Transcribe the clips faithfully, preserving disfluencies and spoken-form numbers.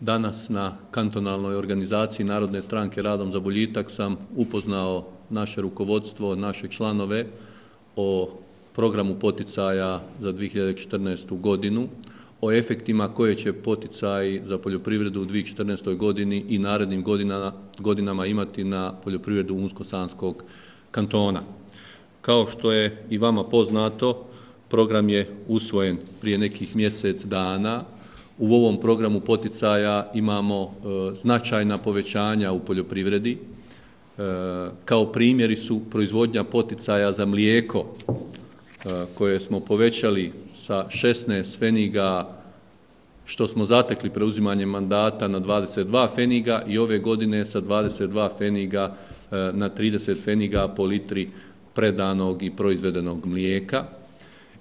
Danas na kantonalnoj organizaciji Narodne stranke Radom za boljitak sam upoznao naše rukovodstvo, naše članove o programu poticaja za dvije hiljade četrnaestu. godinu, o efektima koje će poticaji za poljoprivredu u dvije hiljade četrnaestoj. godini i narednim godinama, godinama imati na poljoprivredu Unsko-sanskog kantona. Kao što je i vama poznato, program je usvojen prije nekih mjesec dana. U ovom programu poticaja imamo e, značajna povećanja u poljoprivredi. E, kao primjeri su proizvodnja poticaja za mlijeko e, koje smo povećali sa šesnaest feniga, što smo zatekli preuzimanjem mandata, na dvadeset dva feniga i ove godine sa dvadeset dva feniga e, na trideset feniga po litri predanog i proizvedenog mlijeka.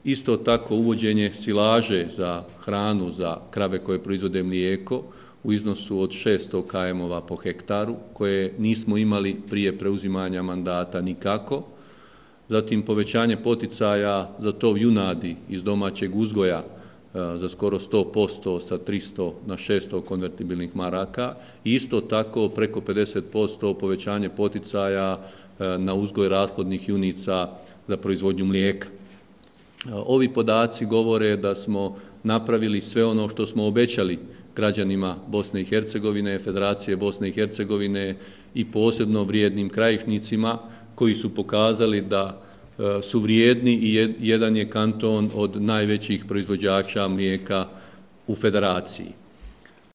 Isto tako uvođenje silaže za hranu za krave koje proizvode mlijeko u iznosu od šesto kilograma po hektaru, koje nismo imali prije preuzimanja mandata nikako. Zatim povećanje poticaja za tov junadi iz domaćeg uzgoja za skoro sto posto sa tristo na šesto konvertibilnih maraka i isto tako preko pedeset posto povećanje poticaja na uzgoj rasplodnih junica za proizvodnju mlijeka. Ovi podaci govore da smo napravili sve ono što smo obećali građanima Bosne i Hercegovine, Federacije Bosne i Hercegovine i posebno vrijednim krajišnicima koji su pokazali da su vrijedni i jedan je kanton od najvećih proizvođača mlijeka u Federaciji.